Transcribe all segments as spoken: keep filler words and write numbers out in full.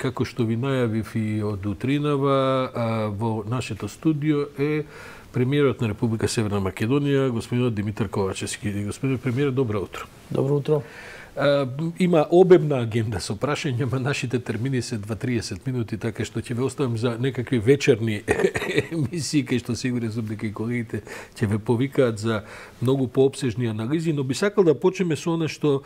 како што ви најавив и од утринава, во нашето студио е премиерот на Република Северна Македонија, господинот Димитар Ковачевски. Господин премиер, добро утро. Добро утро. А, има обемна агенда со прашања, ма нашите термини се два до триесет минути, така што ќе ве оставам за некакви вечерни емисии, кај што сигурен сум дека и колегите ќе ве повикаат за многу поопсежни анализи, но би сакал да почнеме со она што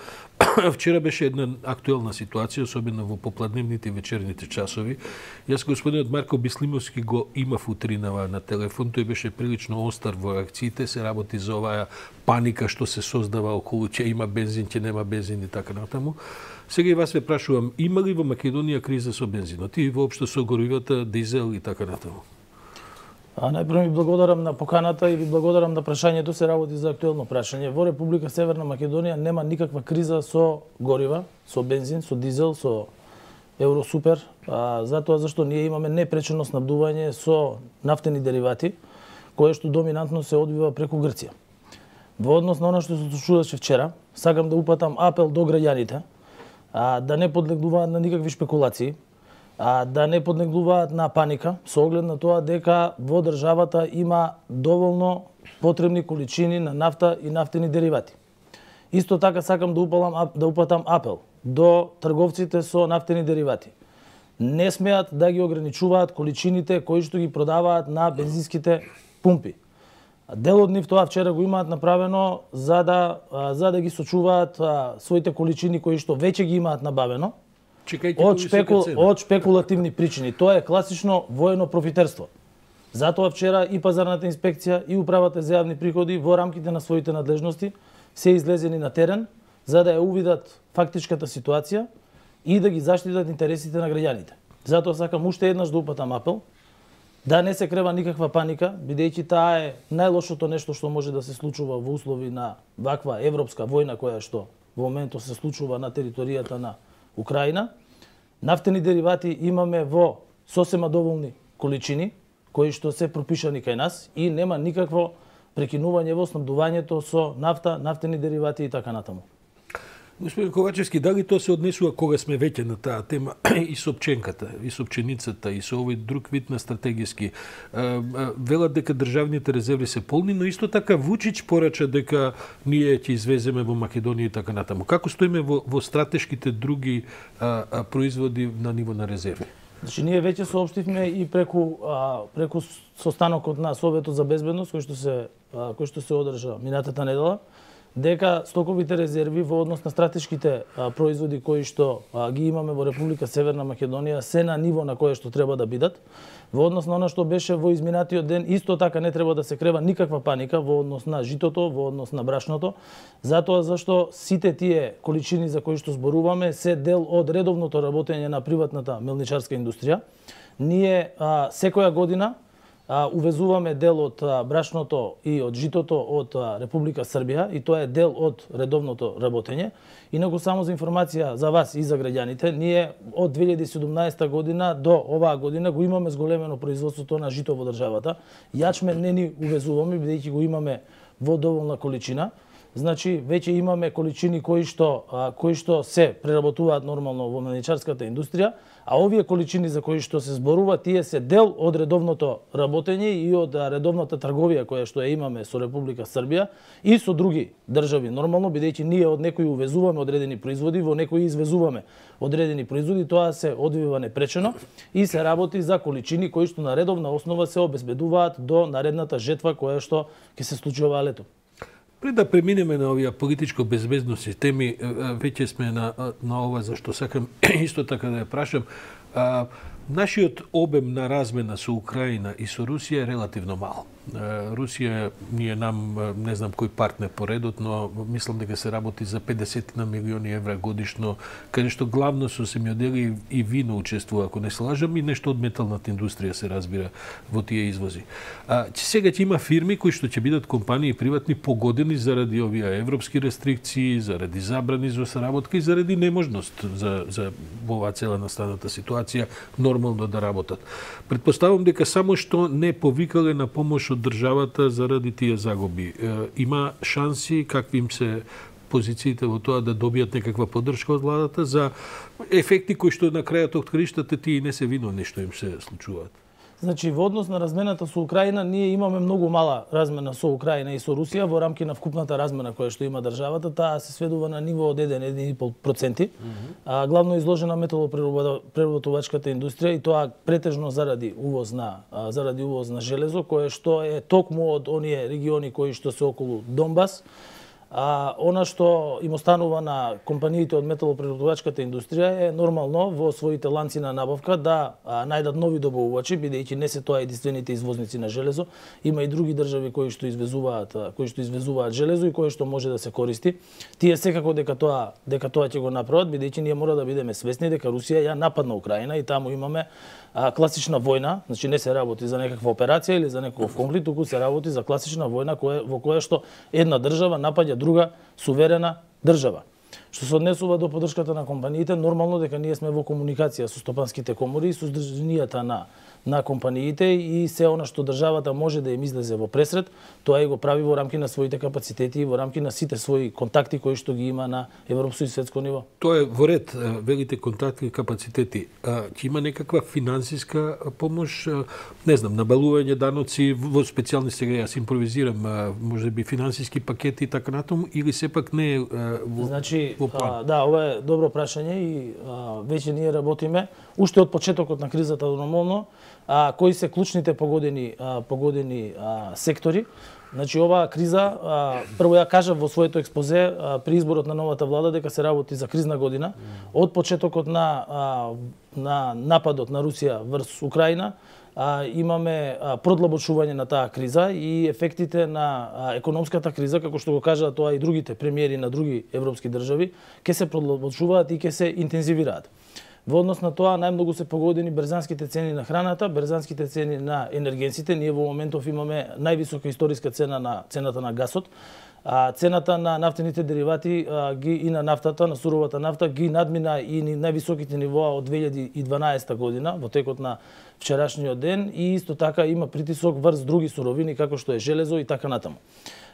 вчера беше една актуелна ситуација, особено во попладневните и вечерните часови. Јас господинот Марко Бислимовски го имав утринава на телефон, тој беше прилично остар во реакциите, се работи за оваа паника што се создава околу ќе има бензин, ќе нема бензин и така натаму. Сега и вас ве прашувам, има ли во Македонија криза со бензинот и воопшто со горивата, дизел и така натаму? А најпрво ви благодарам на поканата и ви благодарам на прашањето, се работи за актуелно прашање. Во Република Северна Македонија нема никаква криза со горива, со бензин, со дизел, со Евросупер, а, затоа зашто ние имаме непречено снабдување со нафтени деривати, кое што доминантно се одвива преку Грција. Во однос на она што се случуваше вчера, сакам да упатам апел до граѓаните а, да не подлегнуваат на никакви шпекулации, а, да не подлегнуваат на паника, со оглед на тоа дека во државата има доволно потребни количини на нафта и нафтени деривати. Исто така сакам да упалам да упатам апел до трговците со нафтени деривати. Не смеат да ги ограничуваат количините кои што ги продаваат на бензинските пумпи. Дел од нив тоа вчера го имаат направено за да за да ги сочуваат а, своите количини кои што веќе ги имаат набавено. Чекајте од, шпекул, од шпекулативни причини. Тоа е класично воено профитерство. Затоа вчера и пазарната инспекција и управата за јавни приходи во рамките на своите надлежности се излезени на терен за да ја увидат фактичката ситуација и да ги заштитат интересите на граѓаните. Затоа сакам уште еднаш да упатам апел да не се крева никаква паника, бидејќи таа е најлошото нешто што може да се случува во услови на ваква европска војна која што во моментот се случува на територијата на Украина. Нафтени деривати имаме во сосема доволни количини, кои што се пропишани кај нас и нема никакво прекинување во снабдувањето со нафта, нафтени деривати и така натаму. Господин Ковачевски, дали тоа се однесува кога сме веќе на таа тема и со пченката, и со пченицата, и со овој друг вид на стратегиски? Велат дека државните резерви се полни, но исто така Вучич порача дека ние ќе извеземе во Македонија и така натаму. Како стоиме во, во стратешките други а, а, производи на ниво на резерви? Значи, ние веќе соопштивме и преку а, преку состанокот на Советот за безбедност кој што се а, кој што се одржа минатата недела, дека стоковите резерви во однос на стратешките а, производи кои што а, ги имаме во Република Северна Македонија се на ниво на кое што треба да бидат. Во однос на она што беше во изминатиот ден, исто така не треба да се крева никаква паника во однос на житото, во однос на брашното, затоа зашто сите тие количини за кои што зборуваме се дел од редовното работење на приватната мелничарска индустрија. Ние а, секоја година А, увезуваме дел од а, брашното и од житото од а, Република Србија и тоа е дел од редовното работење. Инаку само за информација за вас и за граѓаните, ние од две илјади и седумнаесета година до оваа година го имаме зголемено производството на жито во државата. Јачмен не ни увезуваме бидејќи го имаме во доволна количина. Значи веќе имаме количини кои што а, кои што се преработуваат нормално во мелничарската индустрија, а овие количини за кои што се зборува, тие се дел од редовното работење и од редовната трговија која што ја имаме со Република Србија и со други држави. Нормално, бидејќи ние од некои увезуваме одредени производи, во некои извезуваме одредени производи, тоа се одвива непречено и се работи за количини кои што на редовна основа се обезбедуваат до наредната жетва која што ќе се случи оваа лето. Пред да преминеме на овие политичко-безбедносни теми, веќе сме на, на ова за што сакам исто така да ја прашам. А, нашиот обем на размена со Украина и со Русија е релативно мал. Русија ни е нам, не знам кој партнер по редот, но мислам дека се работи за педесет на милиони евра годишно, каде што главно со семјодели и вино учествува, ако не се лажам, и нешто од металната индустрија се разбира во тие извози. А, сега ќе има фирми кои што ќе бидат компании приватни погодени заради овие европски рестрикции, заради забрани за соработка и заради неможност за, за оваа цела настаната ситуација нормално да работат. Предпоставам дека само што не повикале на помош од државата заради тие загуби. Има шанси, какви им се позициите во тоа да добијат некаква поддршка од владата за ефекти кои што на крајот од криштата тие не се виновни што им се случуваат. Значи, во однос на размената со Украина, ние имаме многу мала размена со Украина и со Русија во рамки на вкупната размена која што има државата, таа се сведува на ниво од еден до еден и пол проценти. Mm-hmm. а, главно изложена металопреработувачката индустрија и тоа претежно заради увоз на а, заради увоз на железо, кое што е токму од оние региони кои што се околу Донбас. А она што им останува на компаниите од металопреработувачката индустрија е нормално во своите ланци на набавка да а, најдат нови добавувачи, бидејќи не се тоа единствените извозници на железо, има и други држави кои што извезуваат кои што извезуваат железо и кои што може да се користи. Тие секако дека тоа дека тоа ќе го направат, бидејќи ние мора да бидеме свесни дека Русија ја нападна Украина и таму имаме а, класична војна, значи не се работи за некаква операција или за некој конфликт, туку се работи за класична војна која во која што една држава напаѓа друга суверена држава. Што се однесува до поддршката на компаниите, нормално дека ние сме во комуникација со стопанските комори и со здруженијата на на компаниите и се она што државата може да им излезе во пресред, тоа и го прави во рамки на своите капацитети и во рамки на сите своји контакти кои што ги има на европско и светско ниво. Тоа е во ред, велите контакти и капацитети. Ќе има некаква финансиска помош, не знам, набалување даноци во специјални, сега јас импровизирам, можеби финансиски пакети и така натаму, или сепак не е во, значи, во план? А, да, ова е добро прашање и а, веќе ние работиме уште од почетокот на кризата нормално, а, кои се клучните погодени а, погодени а, сектори. Значи оваа криза, а, прво ја кажав во своето експозе а, при изборот на новата влада дека се работи за кризна година. Од почетокот на а, на нападот на Русија врз Украина, а, имаме а, продлабочување на таа криза и ефектите на а, економската криза, како што го кажаа тоа и другите премиери на други европски држави, ќе се продлабочуваат и ќе се интензивираат. Во однос на тоа, најмногу се погодени брзанските цени на храната, брзанските цени на енергенците. Ние во моментов имаме највисока историска цена на цената на гасот. А, цената на нафтените деривати а, ги, и на нафтата, на суровата нафта, ги надмина и највисоките нивоа од две илјади и дванаесета година, во текот на вчерашниот ден, и исто така има притисок врз други суровини, како што е железо и така натаму.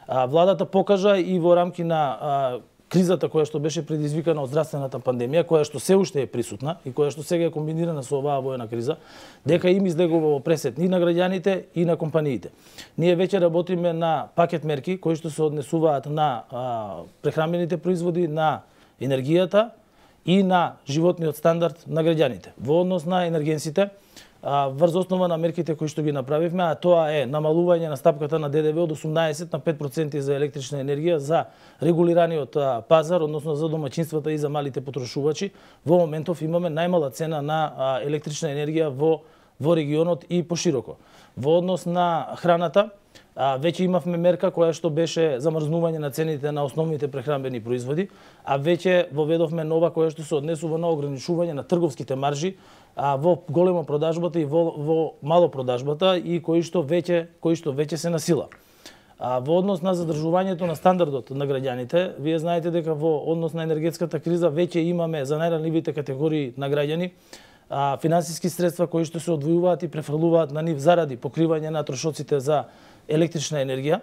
А, владата покажа и во рамки на а, кризата која што беше предизвикана од здравствената пандемија, која што се уште е присутна и која што сега е комбинирана со оваа војна криза, дека им излегува во пресет и на граѓаните и на компаниите. Ние веќе работиме на пакет мерки кои што се однесуваат на а, прехранбените производи, на енергијата и на животниот стандард на граѓаните. Во однос на енергенсите, врз основа на мерките кои што ги направивме, а тоа е намалување на стапката на ДДВ од осумнаесет на пет проценти за електрична енергија за регулираниот пазар, односно за домаќинствата и за малите потрошувачи. Во моментов имаме најмала цена на електрична енергија во во регионот и пошироко. Во однос на храната, А, веќе имавме мерка која што беше замрзнување на цените на основните прехранбени производи, а веќе воведовме нова која што се однесува на ограничување на трговските маржи а, во голема продажбата и во, во мало продажбата и кои што веќе кои што веќе се насила. А, во однос на задржувањето на стандардот на граѓаните, вие знаете дека во однос на енергетската криза веќе имаме за најранливите категории на граѓани а, финансиски средства кои што се одвојуваат и префрлуваат на нив заради покривање на трошоците за електрична енергија.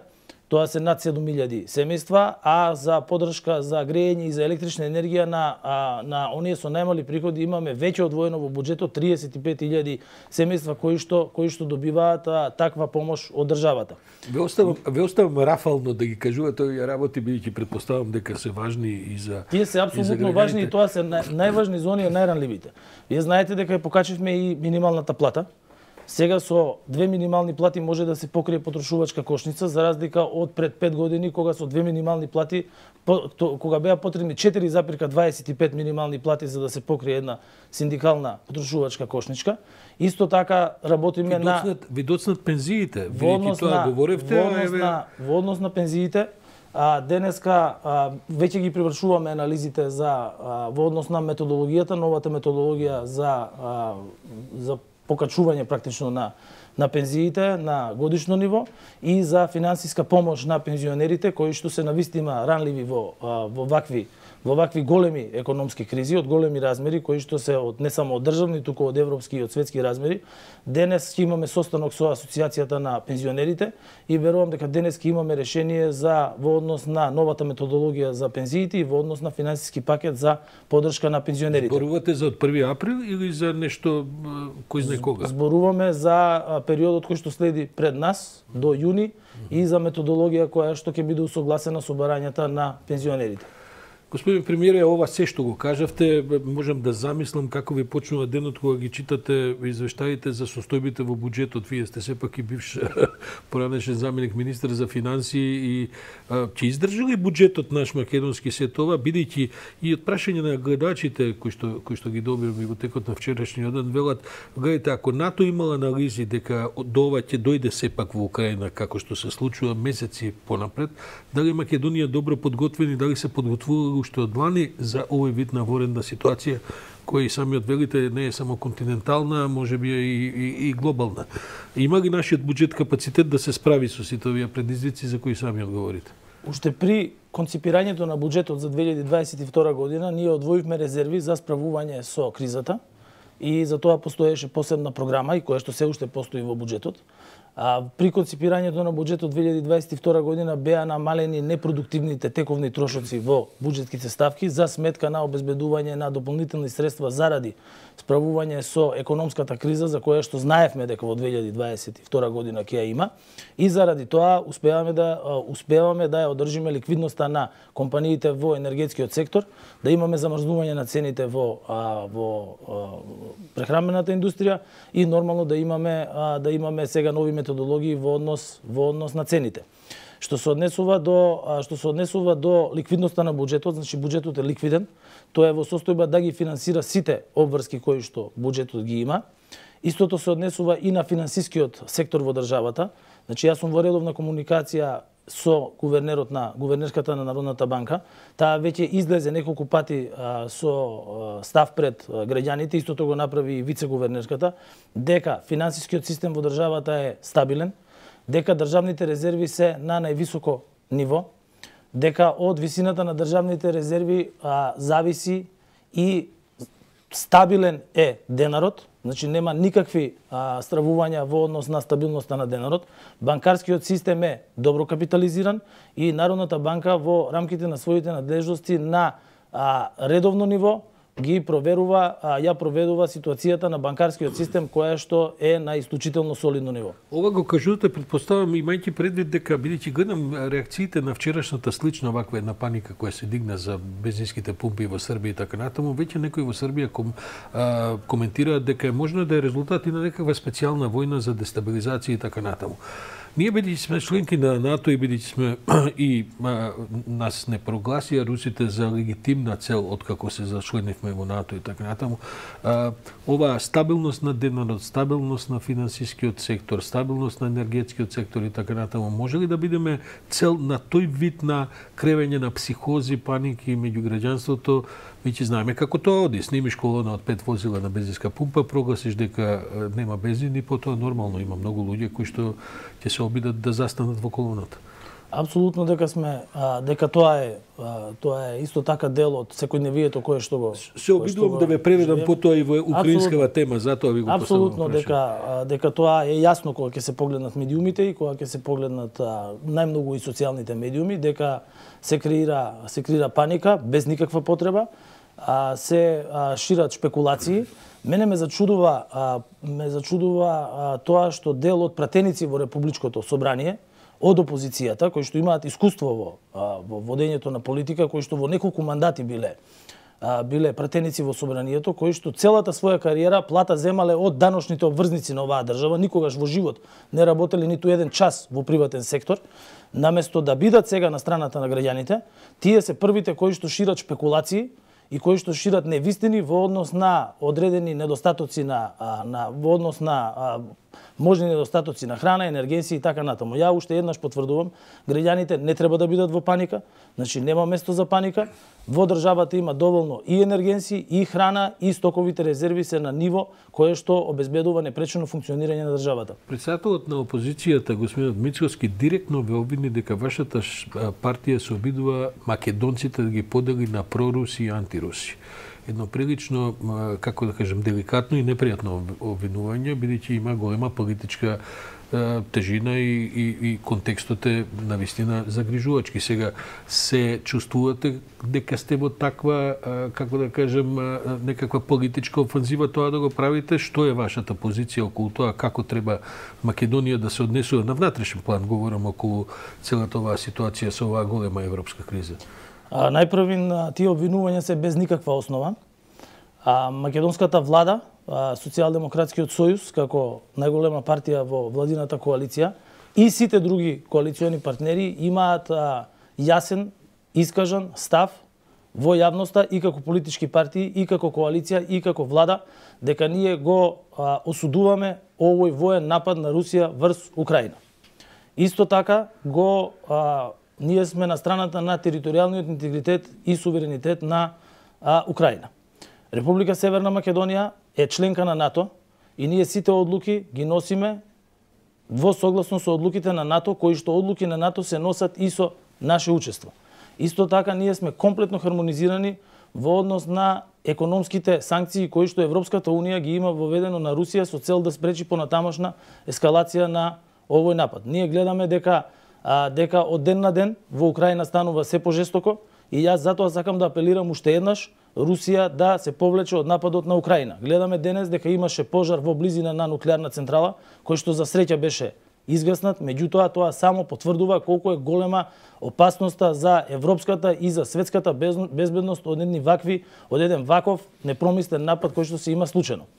Тоа се над седум илјади семејства, а за поддршка за грејење и за електрична енергија на а, на оние со најмали приходи имаме веќе одвоено во буџетот триесет и пет илјади семејства кои што кои што добиваат а, таква помош од државата. Ве оставам ве оставам рафално да ги кажувате овие работи, бидејќи претпоставам дека се важни и за Тие се апсолутно важни и тоа се нај, најважни за оние најранливите. Вие знаете дека покачивме и минималната плата. Сега со две минимални плати може да се покрие потрошувачка кошница, за разлика од пред пет години, кога со две минимални плати, кога беа потребни четири запирка дваесет и пет минимални плати за да се покрие една синдикална потрошувачка кошничка. Исто така работиме ви на... доцнат, ви доцнат пензиите, во однос тоа на, говоревте, во однос еве... на, во однос на пензиите, а, денеска а, веќе ги привршуваме анализите за а, во однос на методологијата, новата методологија за а, за покачување практично на на пензиите на годишно ниво и за финансиска помош на пензионерите кои што се навистина ранливи во во вакви во вакви големи економски кризи, од големи размери, кои што се од не само од државни, туку од европски и од светски размери. Денес ќе имаме состанок со Асоциацијата на пензионерите и верувам дека денес ќе имаме решение за во однос на новата методологија за пензиите и во однос на финансиски пакет за поддршка на пензионерите. Зборувате за од први април или за нешто кој знае кога? Зборуваме за периодот кој што следи пред нас до јуни и за методологија која што ќе биде усогласена со барањата на пензионерите. Господин премиере, ова се што го кажавте, можам да замислам како ви почнува денот кога ги читате извештаите за состојбите во буџетот. Вие сте сепак и бивш поранешен заменик министер за финансии и а, ќе издржи ли буџетот наш македонски се тоа, бидејќи и од прашање на гледачите кои што кои што ги добивме во текот на вчерашниот ден велат, гледате, ако НАТО имала анализи дека до ова ќе дојде сепак во Украина како што се случува месеци понапред, дали Македонија добро подготвени, дали се подготвували уште од лани за овој вид на военна ситуација, која и самиот велите не е само континентална, може би и, и, и глобална. Има ли нашиот буџет капацитет да се справи со сите овие предизвици за кои сами одговорите? Уште при конципирањето на буџетот за две илјади дваесет и втора година ние одвоивме резерви за справување со кризата и за тоа постоеше посебна програма и која што се уште постои во буџетот. А, при конципирањето на буџетот две илјади дваесет и втора година беа намалени непродуктивните тековни трошоци во буџетските ставки за сметка на обезбедување на дополнителни средства заради справување со економската криза за која што знаевме дека во две илјади дваесет и втора година ќе ја има и заради тоа успеваме да успеваме да ја одржиме ликвидноста на компаниите во енергетскиот сектор, да имаме замрзнување на цените во а, во а, прехранбената индустрија и нормално да имаме а, да имаме сега нови методологии во однос во однос на цените. Што се однесува до што се однесува до ликвидноста на буџетот, значи буџетот е ликвиден, тоа е во состојба да ги финансира сите обврски кои што буџетот ги има. Истото се однесува и на финансискиот сектор во државата. Значи јас сум во редовна комуникација со гувернерот на гувернерската на Народната банка. Таа веќе излезе неколку пати а, со а, став пред а, граѓаните, истото го направи и вице-гувернерката, дека финансискиот систем во државата е стабилен, дека државните резерви се на највисоко ниво, дека од висината на државните резерви а, зависи и стабилен е денарот, значи нема никакви а, стравувања во однос на стабилноста на денарот. Банкарскиот систем е добро капитализиран и Народната банка во рамките на своите надлежности на а, редовно ниво ги проверува, а, ја проведува ситуацијата на банкарскиот систем која што е на исклучително солидно ниво. Ова го кажувате, предпоставам, имајќи предвид дека, бидејќи гледам реакциите на вчерашната слична ваква една паника која се дигна за бензинските пумпи во Србија и така натаму, веќе некои во Србија ком, а, коментираат дека е можно да е резултат и на некаква специјална војна за дестабилизација и така натаму. Ние бидејќи сме членки на НАТО и бидејќи сме и а, нас не прогласија русите за легитимна цел откако се зачленивме во НАТО и така натаму, а, ова стабилност на денарот, стабилност на финансискиот сектор, стабилност на енергетскиот сектор и така натаму, може ли да бидеме цел на тој вид на кревење на психози, паники меѓу граѓанството? Веќе знаеме како тоа оди. Снимиш колона од пет возила на бензинска пумпа, прогласиш дека нема бензин и потоа нормално има многу луѓе кои што ќе се обидат да застанат во колоната. Апсолутно дека сме а, дека тоа е а, тоа е исто така дел од секојдневието кое што го се обидувам да ве преведам потоа и во украинскава тема, затоа ви го поставам. Апсолутно дека а, дека тоа е јасно кога ќе се погледнат медиумите и кога ќе се погледнат а, најмногу и социјалните медиуми, дека се креира се креира паника без никаква потреба, а, се а, шират шпекулации. Мене ме зачудува а, ме зачудува а, тоа што дел од пратеници во Републичкото собрание од опозицијата, кои што имаат искуство во, а, во водењето на политика, кои што во неколку мандати биле а, биле пратеници во собранието, кои што целата своја кариера плата земале од даношните обврзници на оваа држава, никогаш во живот не работеле ниту еден час во приватен сектор, наместо да бидат сега на страната на граѓаните, тие се првите кои што шират шпекулации и кои што шират невистини во однос на одредени недостатоци на, на во однос на можни недостатоци на храна, енергенци и така натаму. Ја уште еднаш потврдувам, граѓаните не треба да бидат во паника, значи нема место за паника. Во државата има доволно и енергенци, и храна, и стоковите резерви се на ниво кое што обезбедува непречено функционирање на државата. Председателот на опозицијата, господинот Мицкоски, директно ве обвини дека вашата партија се обидува македонците да ги подели на проруси и антируси. Едно прилично, како да кажем, деликатно и непријатно обвинување, бидејќи има голема политичка тежина и, и, и контекстот е навистина загрижувачки. Сега се чувствувате дека сте во таква, како да кажем, некаква политичка офанзива тоа да го правите? Што е вашата позиција околу тоа? Како треба Македонија да се однесува на внатрешен план? Говорам околу целата оваа ситуација со оваа голема европска криза. А, најпрвин, тие обвинувања се без никаква основа. А, македонската влада, а, Социјалдемократскиот сојуз, како најголема партија во владината коалиција, и сите други коалициони партнери имаат а, јасен, искажан став во јавноста и како политички партии, и како коалиција, и како влада, дека ние го а, осудуваме овој воен напад на Русија врз Украина. Исто така го а, ние сме на страната на територијалниот интегритет и суверенитет на а, Украина. Република Северна Македонија е членка на НАТО и ние сите одлуки ги носиме во согласно со одлуките на НАТО, кои што одлуки на НАТО се носат и со наше учество. Исто така ние сме комплетно хармонизирани во однос на економските санкции кои што Европската Унија ги има воведено на Русија со цел да спречи понатамошна ескалација на овој напад. Ние гледаме дека а, дека од ден на ден во Украина станува се пожестоко и јас затоа сакам да апелирам уште еднаш Русија да се повлече од нападот на Украина. Гледаме денес дека имаше пожар во близина на нуклеарна централа, кој што за среќа беше изгаснат, меѓутоа тоа само потврдува колку е голема опасноста за европската и за светската безбедност од едни вакви, од еден ваков непромислен напад кој што се има случајно.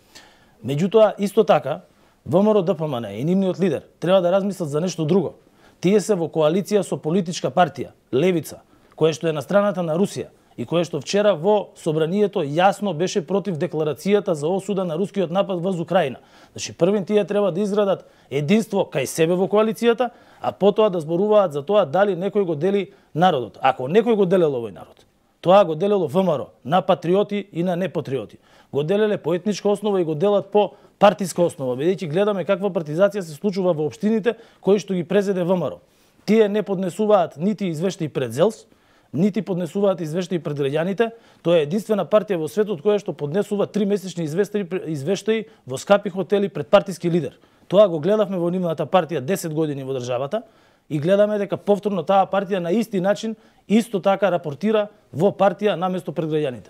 Меѓутоа исто така ВМРО Д П М Н и нивниот лидер треба да размислат за нешто друго. Тие се во коалиција со политичка партија Левица, која што е на страната на Русија и која што вчера во собранието јасно беше против декларацијата за осуда на рускиот напад врз Украина. Значи првин тие треба да изградат единство кај себе во коалицијата, а потоа да зборуваат за тоа дали некој го дели народот. Ако некој го делел овој народ, тоа го делело ВМРО на патриоти и на непатриоти. Го делеле по етничка основа и го делат по партиска основа, бидејќи гледаме каква партизација се случува во општините кои што ги презеде ВМРО. Тие не поднесуваат нити извештаи пред ЗЕЛС, нити поднесуваат извештаи пред граѓаните. Тоа е единствена партија во светот која што поднесува тримесечни извештаи, извештаи во скапи хотели пред партиски лидер. Тоа го гледавме во нивната партија десет години во државата и гледаме дека повторно таа партија на исти начин исто така рапортира во партија наместо пред граѓаните.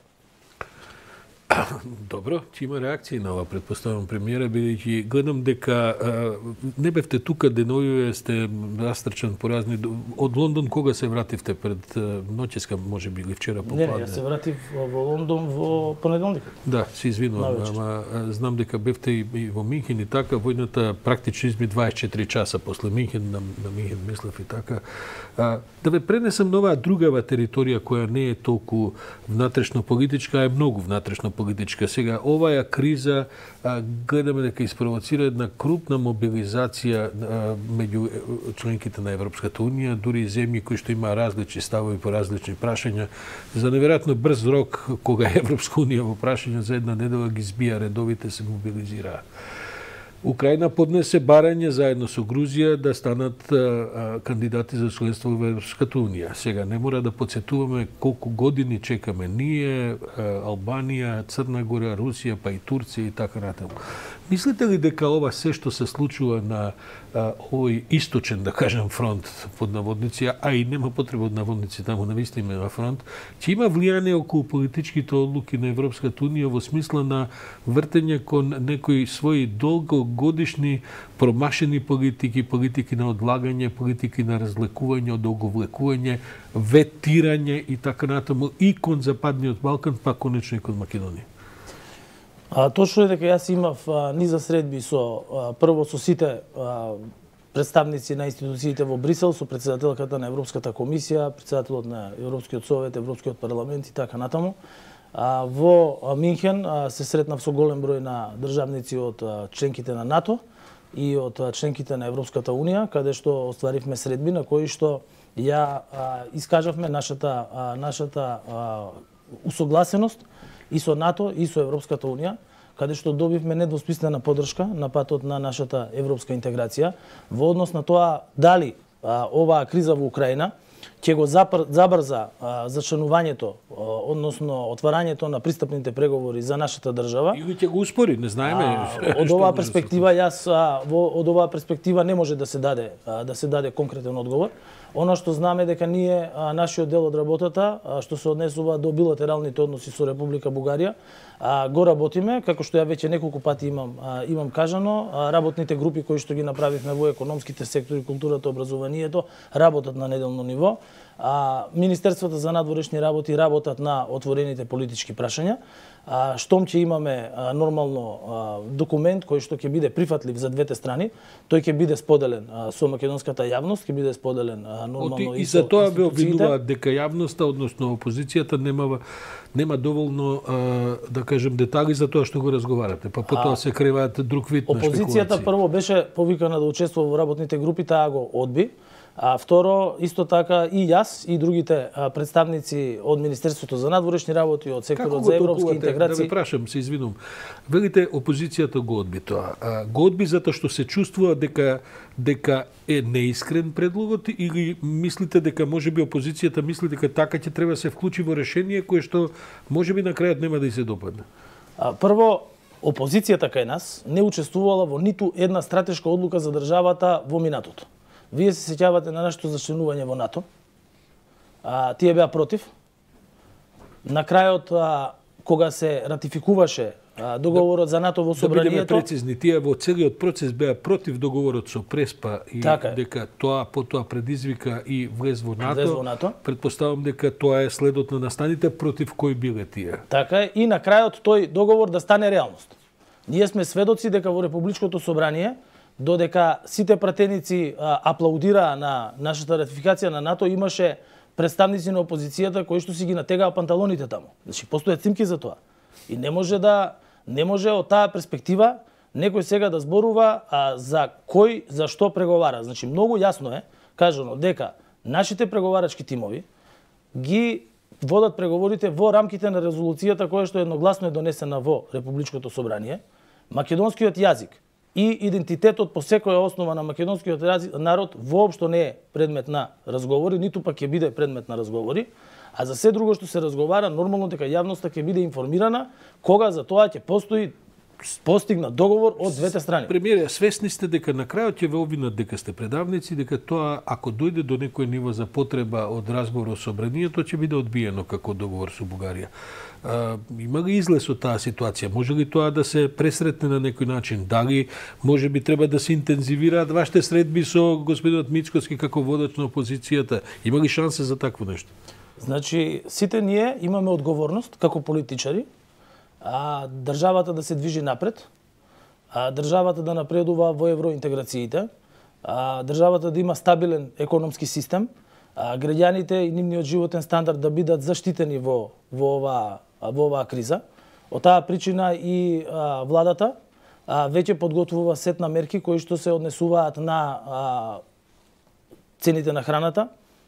Добро, ќе има реакции на ова, предпоставам, премиера, бидејќи гледам дека а, не бевте тука деновиве, сте растрчан по разни... Од Лондон кога се вративте? Пред ноќеска, може би, или вчера попладне? Не, јас се вратив во Лондон во понеделникот. Да, се извинувам, ама знам дека бевте и, и во Минхен и така, војната практично изми дваесет и четири часа после Минхен, на, на Минхен мислев и така. А, да ве пренесам на оваа другава територија која не е толку внатрешно политичка, а е многу внатрешно политичка. Сега, оваа криза а, гледаме дека испровоцира една крупна мобилизација а, меѓу членките на Европската Унија, дури и земји кои што има различни ставови по различни прашања. За неверојатно брз рок, кога Европска Унија во прашања за една недела ги збија редовите, се мобилизираа. Украина поднесе барање заедно со Грузија да станат а, а, кандидати за членство во Европската Унија. Сега не мора да подсетуваме колку години чекаме ние, а, Албанија, Црна Гора, Русија, па и Турција и така натаму. Мислите ли дека ова се што се случува на а, овој источен, да кажем, фронт под наводници, а и нема потреба од наводници, таму навистина на фронт, ќе има влијание околу политичките одлуки на Европската Унија во смисла на вртење кон некои своји долгогодишни промашени политики, политики на одлагање, политики на разлекување, одолговлекување, ветирање и така натаму и кон Западниот Балкан, па конечно и кон Македонија. А, точно е дека јас имав а, низа средби со а, прво со сите а, представници на институциите во Брисел, со председателката на Европската комисија, председателот на Европскиот совет, Европскиот парламент и така натаму. А, во а, Минхен а, се сретнав со голем број на државници од а, членките на НАТО, и од членките на Европската унија, каде што остваривме средби на кои што ја а, искажавме нашата а, нашата а, усогласеност и со НАТО и со Европската унија, каде што добивме недвосмислена поддршка на патот на нашата европска интеграција во однос на тоа дали а, оваа криза во Украина ќе го забрза а, зачленувањето, односно отварањето на пристапните преговори за нашата држава. Или ќе го успори, не знаеме. А, од оваа перспектива јас а, во, од оваа перспектива не може да се даде а, да се даде конкретен одговор. Оно што знаме дека ние а, нашиот дел од работата а, што се однесува до билатералните односи со Република Бугарија, а, го работиме, како што ја веќе неколку пати имам а, имам кажано, а, работните групи кои што ги направивме во економските сектори, културата, образованието, работат на неделно ниво. А, Министерството за надворешни работи работат на отворените политички прашања. А, штом ќе имаме а, нормално а, документ кој што ќе биде прифатлив за двете страни, тој ќе биде споделен а, со македонската јавност, ќе биде споделен а, нормално Оти, и, и за тоа ве обвинуваат дека јавноста, односно опозицијата нема нема доволно а, да кажем детали за тоа што го разговарате, па потоа се креваат друг вид на шпекулации. Опозицијата прво беше повикана да учествува во работните групи, таа го одби. А второ, исто така и јас и другите а, представници од Министерството за надворешни работи, од секторот за европски интеграции. Да ве прашам, се извинувам. Велите опозицијата го одби тоа. А, го одби затоа што се чувствува дека дека е неискрен предлогот или мислите дека можеби опозицијата мисли дека така ќе треба да се вклучи во решение кое што можеби на крајот нема да и се допадне? А, прво, опозицијата кај нас не учествувала во ниту една стратешка одлука за државата во минатото. Вие се сеќавате на нашето зачленување во НАТО. А, тие беа против. На крајот, а, кога се ратификуваше а, договорот за НАТО во собранието... Да бидеме прецизни, тие во целиот процес беа против договорот со Преспа и така дека тоа потоа предизвика и влез во НАТО. Влез во НАТО. Предпоставам дека тоа е следот на настаните против кои биле тие. Така е, и на крајот тој договор да стане реалност. Ние сме сведоци дека во Републичкото собрание, додека сите пратеници а, аплаудираа на нашата ратификација на НАТО, имаше представници на опозицијата кои што си ги натегаа панталоните таму. Значи постојат снимки за тоа. И не може да не може од таа перспектива некој сега да зборува а, за кој за што преговара. Значи многу јасно е кажано дека нашите преговарачки тимови ги водат преговорите во рамките на резолуцијата која што едногласно е донесена во Републичкото собрание. Македонскиот јазик и идентитетот по секоја основа на македонскиот народ воопшто не е предмет на разговори, ниту пак ќе биде предмет на разговори, а за се друго што се разговара, нормално дека јавноста ќе биде информирана кога за тоа ќе постои постигнат договор од двете страни. Премиере, свесни сте дека на крајот ќе ве обвинат дека сте предавници, дека тоа ако дојде до некој ниво за потреба од разговор со собранието ќе биде одбиено како договор со Бугарија. А, има ли излез од таа ситуација? Може ли тоа да се пресретне на некој начин? Дали може би треба да се интензивираат вашите средби со господинот Мицкоски како водач на опозицијата? Има ли шанса за такво нешто? Значи, сите ние имаме одговорност како политичари, а државата да се движи напред, а државата да напредува во евроинтеграциите, а државата да има стабилен економски систем, а граѓаните и нивниот животен стандард да бидат заштитени во во оваа во оваа криза. Од таа причина и а, владата а, веќе подготвува сет на мерки кои што се однесуваат на а, цените на храната,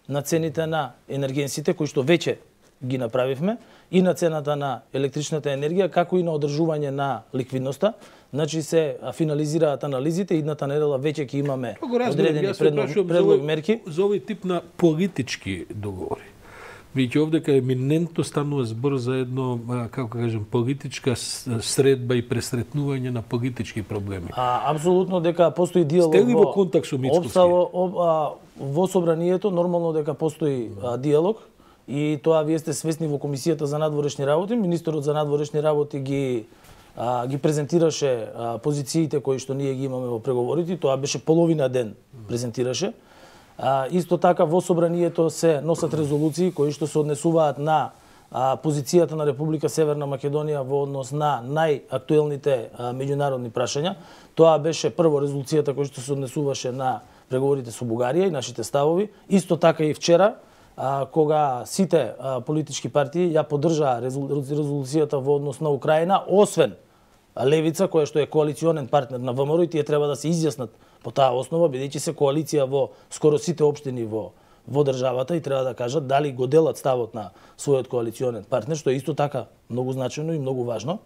на цените на енергенсите кои што веќе ги направивме, и на цената на електричната енергија, како и на одржување на ликвидноста. Значи се финализираат анализите, идната недела веќе ќе имаме одредени предлог, предлог мерки. За овој тип на политички договори. Веќе овдека еминентно станува збор за едно, како кажем, политичка средба и пресретнување на политички проблеми. А, апсолутно дека постои диалог. Сте ли во контакт со Мицкоски? Во, во собранието нормално дека постои а, диалог. И тоа вие сте свесни во Комисијата за надворешни работи. Министерот за надворешни работи ги а, ги презентираше а, позициите кои што ние ги имаме во преговорите. Тоа беше половина ден презентираше. А, исто така во собранието се носат резолуции кои што се однесуваат на а, позицијата на Република Северна Македонија во однос на најактуелните а, меѓународни прашања. Тоа беше прво резолуцијата која што се однесуваше на преговорите со Бугарија и нашите ставови. Исто така и вчера, А, кога сите а, политички партии ја поддржаа резолуцијата во однос на Украина, освен Левица, која што е коалиционен партнер на ВМРО, и тие треба да се изјаснат по таа основа, бидејќи се коалиција во скоро сите општини во во државата, и треба да кажат дали го делат ставот на својот коалиционен партнер, што е исто така многу значено и многу важно.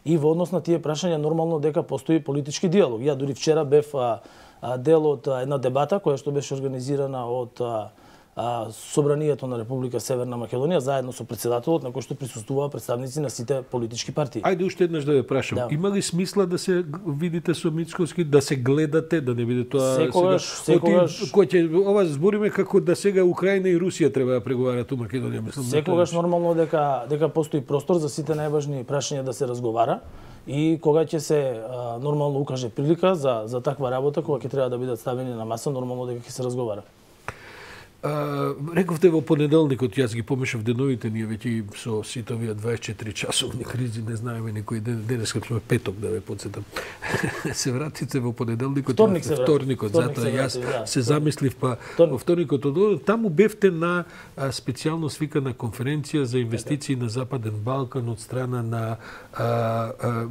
И во однос на тие прашања нормално дека постои политички диалог. Ја дури вчера бев а, а, дел од а, една дебата која што беше организирана од а, а, Собранието на Република Северна Македонија заедно со председателот, на кој што присуствуваа представници на сите политички партии. Ајде уште еднаш да ве прашам. Да. Има ли смисла да се видите со Мицкоски, да се гледате, да не биде тоа секогаш, сега? Секогаш, кој ќе ова збориме како да сега Украина и Русија треба да преговараат у Македонија, мислам. Секогаш нормално дека дека постои простор за сите најважни прашања да се разговара, и кога ќе се а, нормално укаже прилика за за таква работа, кога ќе треба да бидат ставени на маса, нормално дека ќе се разговара. А, рековте во понеделникот, јас ги помешав деновите, ние веќе со сите овие дваесет и четири часовни кризи не знаеме никој ден, денес како сме петок, да ве подсетам. се вратите во понеделникот, вторник се вторникот, вторник затоа јас се, да, се замислив, па вторник. во вторникот од таму бевте на а, специјално свикана конференција за инвестиции на Западен Балкан од страна на а, а,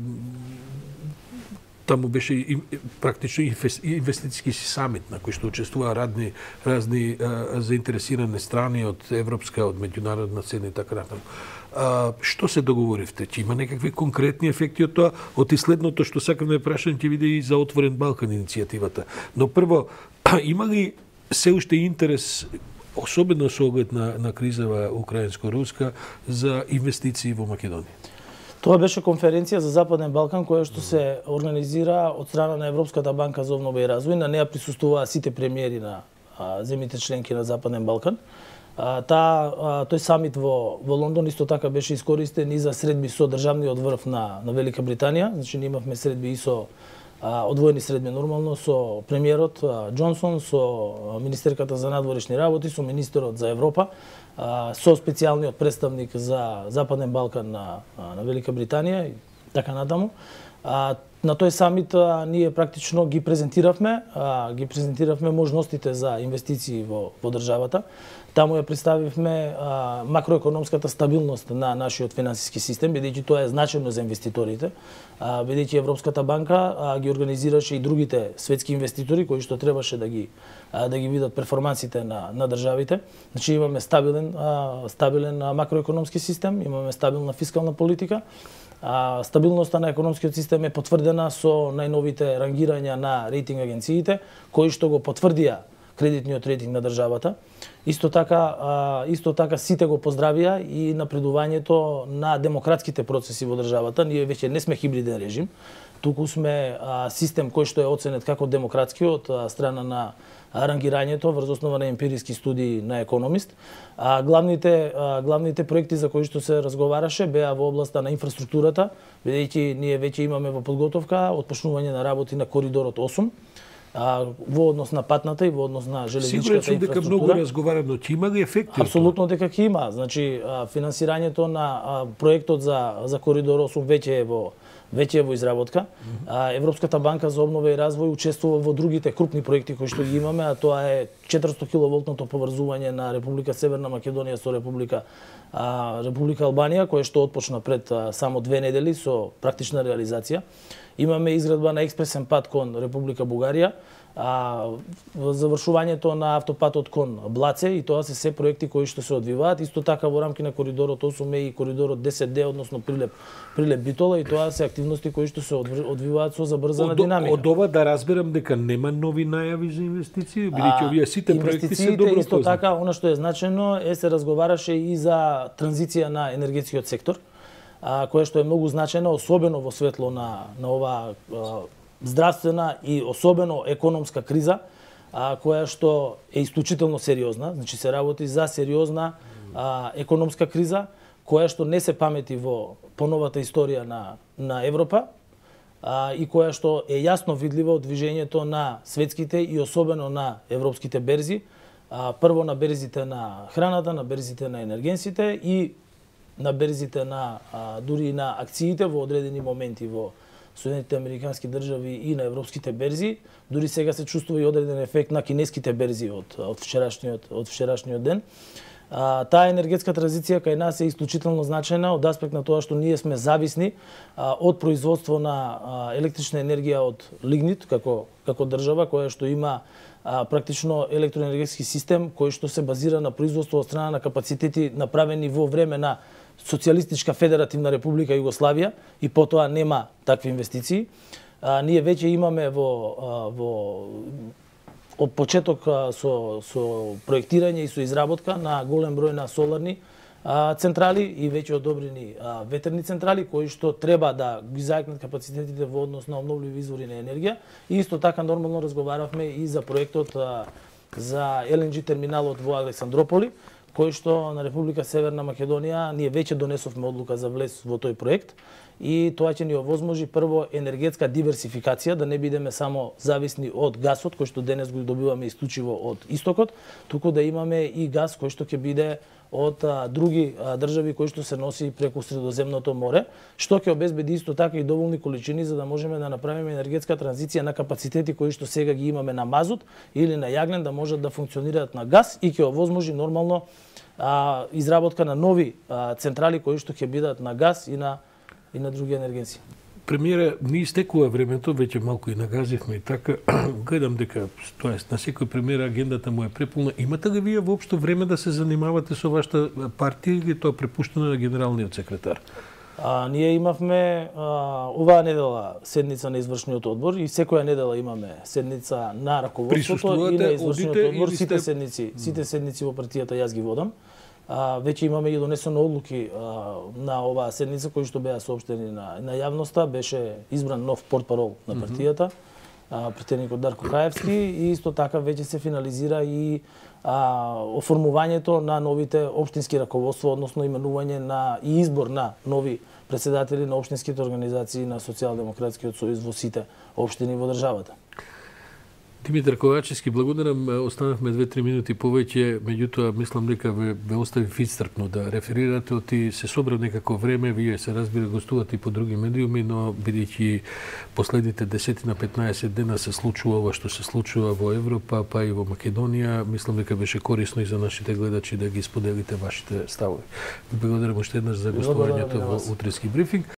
таму беше и, практично инвестицијски самит на кој што учествуваа разни разни а, заинтересирани страни од европска, од меѓународна сцена и така натаму. А, што се договоривте? Ќе има некакви конкретни ефекти од тоа? Од исследното што сакам да прашам ќе биде и за Отворен Балкан иницијативата. Но прво, има ли се уште интерес, особено со оглед на, на кризава украинско-руска, за инвестиции во Македонија? Тоа беше конференција за Западен Балкан која што се организира од страна на Европската банка за обнова и развој. На неа присуствуваа сите премиери на а, земјите членки на Западен Балкан. А, та, а, тој самит во, во Лондон исто така беше искористен и за средби со државниот врв на, на Велика Британија. Значи, ние имавме средби и со а, одвоени средби нормално со премиерот а, Џонсон, со министерката за надворешни работи, со министерот за Европа, со специјалниот представник за Западен Балкан на, на Велика Британија и така натаму. А, на тој самит а, ние практично ги презентиравме, а, ги презентиравме можностите за инвестиции во, во државата. Таму ја представивме а, макроекономската стабилност на нашиот финансиски систем, бидејќи тоа е значено за инвеститорите, а, бидејќи Европската банка а, ги организираше и другите светски инвеститори кои што требаше да ги а, да ги видат перформансите на на државите. Значи имаме стабилен а, стабилен а, макроекономски систем, имаме стабилна фискална политика. А, стабилноста на економскиот систем е потврдена со најновите рангирања на рейтинг агенциите, кои што го потврдија кредитниот рейтинг на државата. Исто така, а, исто така сите го поздравија и напредувањето на демократските процеси во државата. Ние веќе не сме хибриден режим, туку сме а, систем кој што е оценет како демократски од а, страна на рангирањето врз основа на емпириски студии на Економист. А, главните а, главните проекти за кои што се разговараше беа во областа на инфраструктурата, бидејќи ние веќе имаме во подготовка отпочнување на работи на коридорот осум. А, во однос на патната и во однос на железничката инфраструктура. Сигурно дека многу разговарано, ќе има ли ефекти? Апсолутно дека ќе има. Значи, а, финансирањето на а, проектот за за коридор осум веќе е во веќе е во изработка. Mm -hmm. а, Европската банка за обнова и развој учествува во другите крупни проекти кои што ги имаме, а тоа е четиристо киловолтното поврзување на Република Северна Македонија со Република а, Република Албанија, кое што отпочна пред а, само две недели со практична реализација. Имаме изградба на експресен пат кон Република Бугарија, а, завршувањето на автопатот кон Блаце, и тоа се се проекти кои што се одвиваат. Исто така во рамки на коридорот осум е и коридорот десет Д, односно Прилеп Прилеп Битола, и тоа се активности кои што се одвиваат со забрзана динамика. Од ова да разберам дека нема нови најави за инвестиции, бидејќи овие сите проекти се добро познати. Исто така, она што е значено е се разговараше и за транзиција на енергетскиот сектор, а, која што е многу значена, особено во светло на на ова а, здравствена и особено економска криза, а, која што е исклучително сериозна. Значи се работи за сериозна а, економска криза, која што не се памети во поновата историја на на Европа, а, и која што е јасно видлива од движењето на светските и особено на европските берзи. А, прво на берзите на храната, на берзите на енергенсите и на берзите на а, дури на акциите во одредени моменти во Соединетите Американски држави и на европските берзи. Дури сега се чувствува и одреден ефект на кинеските берзи од од вчерашниот од вчерашниот ден. А, таа енергетска транзиција кај нас е исклучително значајна од аспект на тоа што ние сме зависни а, од производство на а, електрична енергија од лигнит како како држава која што има а, практично електроенергетски систем кој што се базира на производство од страна на капацитети направени во време на Социјалистичка федеративна република Југославија и потоа нема такви инвестиции. А, ние веќе имаме во а, во од почеток а, со со проектирање и со изработка на голем број на соларни а, централи и веќе одобрени а, ветерни централи кои што треба да ги зајакнат капацитетите во однос на обновливи извори на енергија. И исто така нормално разговаравме и за проектот а, за Ел Ен Џи терминалот во Александрополи, кој што на Република Северна Македонија ние веќе донесовме одлука за влез во тој проект и тоа ќе ни овозможи прво енергетска диверсификација, да не бидеме само зависни од гасот кој што денес го добиваме исклучиво од истокот, туку да имаме и гас кој што ќе биде од а, други а, држави кои што се носи преку Средоземното море, што ќе обезбеди исто така и доволни количини за да можеме да направиме енергетска транзиција на капацитети кои што сега ги имаме на мазут или на јаглен да можат да функционираат на газ и ќе овозможи нормално а, изработка на нови а, централи кои што ќе бидат на газ и на и на други енергенци. Премиере, ни истекува времето, веќе малку и нагазивме и така, гледам дека, тоест, на секој премиер агендата му е преполна. Имате ли вие воопшто време да се занимавате со вашата партија или тоа препуштено на генералниот секретар? А, ние имавме а, оваа недела седница на извршниот одбор и секоја недела имаме седница на раководството и на извршниот одбор. Сите сте... седници, сите седници во партијата јас ги водам. А, веќе имаме и донесено одлуки а, на оваа седница кои што беа соопштени на, на јавноста. Беше избран нов портпарол на партијата, а, претедникот Дарко Краевски, и исто така веќе се финализира и а, оформувањето на новите општински раководства, односно именување на и избор на нови председатели на општинските организации на Социјалдемократскиот сојуз во сите општини во државата. Димитар Ковачевски, благодарам. Останавме две-три минути повеќе, меѓутоа мислам дека ве, ве остави истрпно да реферирате, оти се собра некако време, вие се разбира гостувате и по други медиуми, но бидејќи последните десет на петнаесет дена се случува ова што се случува во Европа, па и во Македонија, мислам дека беше корисно и за нашите гледачи да ги споделите вашите ставови. Благодарам уште еднаш за гостувањето во утрески брифинг.